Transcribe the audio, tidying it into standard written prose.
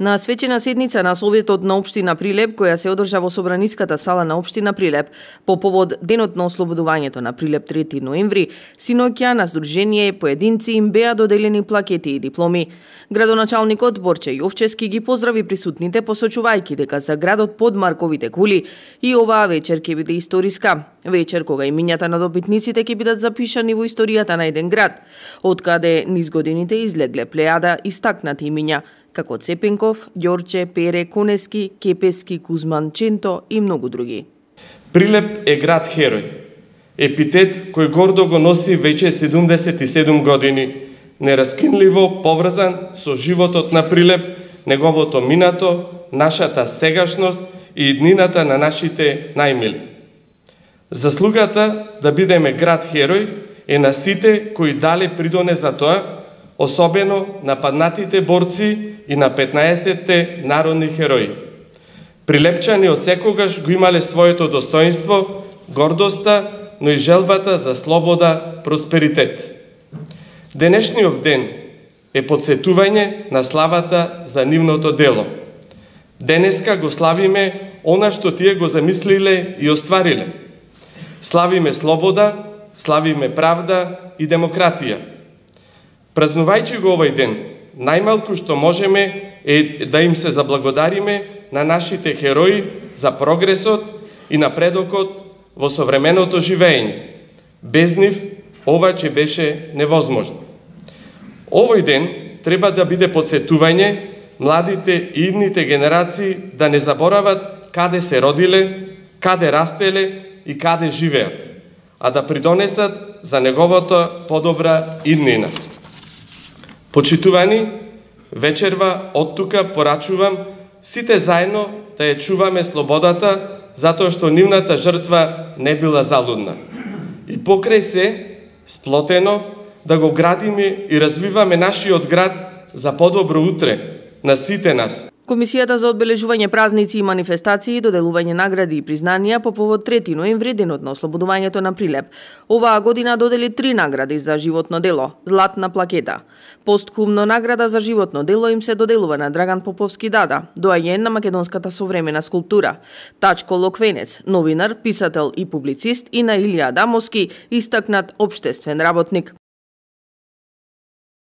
На свечена седница на Советот на општина Прилеп, која се одржа во Собраниската сала на општина Прилеп, по повод Денот на ослободувањето на Прилеп 3 ноември, синоќа на Сдружение поединци им беа доделени плакети и дипломи. Градоначалникот Борче Јовчевски ги поздрави присутните, посочувајќи дека за градот под Марковите кули и оваа вечер ќе биде историска. Вечер кога имињата на добитниците ќе бидат запишани во историјата на еден град, откаде низ годините излегле плејада истакнати имиња, како Цепенков, Ѓорче, Пере, Конески, Кепески, Кузман, Ченто и многу други. Прилеп е град херој. Епитет кој гордо го носи веќе 77 години, нераскинливо поврзан со животот на Прилеп, неговото минато, нашата сегашност и иднината на нашите најмили. Заслугата да бидеме град херој е на сите кои дале придонес за тоа, особено на паднатите борци и на 15-те народни херои. Прилепчани од секогаш го имале своето достоинство, гордоста, но и желбата за слобода, просперитет. Денешниот ден е подсетување на славата за нивното дело. Денеска го славиме она што тие го замислиле и оствариле. Славиме слобода, славиме правда и демократија. Празнувајќи го овој ден, најмалку што можеме е да им се заблагодариме на нашите херои за прогресот и напредокот во современото живење. Без нив ова ќе беше невозможно. Овој ден треба да биде подсетување младите и идните генерации да не заборават каде се родиле, каде растеле и каде живеат, а да придонесат за неговото подобра иднина. Почитувани, вечерва од тука порачувам сите заедно да ја чуваме слободата, затоа што нивната жртва не била залудна. И покрај се, сплотено, да го градиме и развиваме нашиот град за подобро утре на сите нас. Комисијата за одбележување празници и манифестации, доделување награди и признанија по повод 3 ноември, денот на ослободувањето на Прилеп. Оваа година додели 3 награди за животно дело, златна плакета. Постхумно награда за животно дело им се доделува на Драган Поповски Дада, доаѓен на македонската современа скулптура, Тачко Локвенец, новинар, писател и публицист, и на Илија Адамовски, истакнат општествен работник.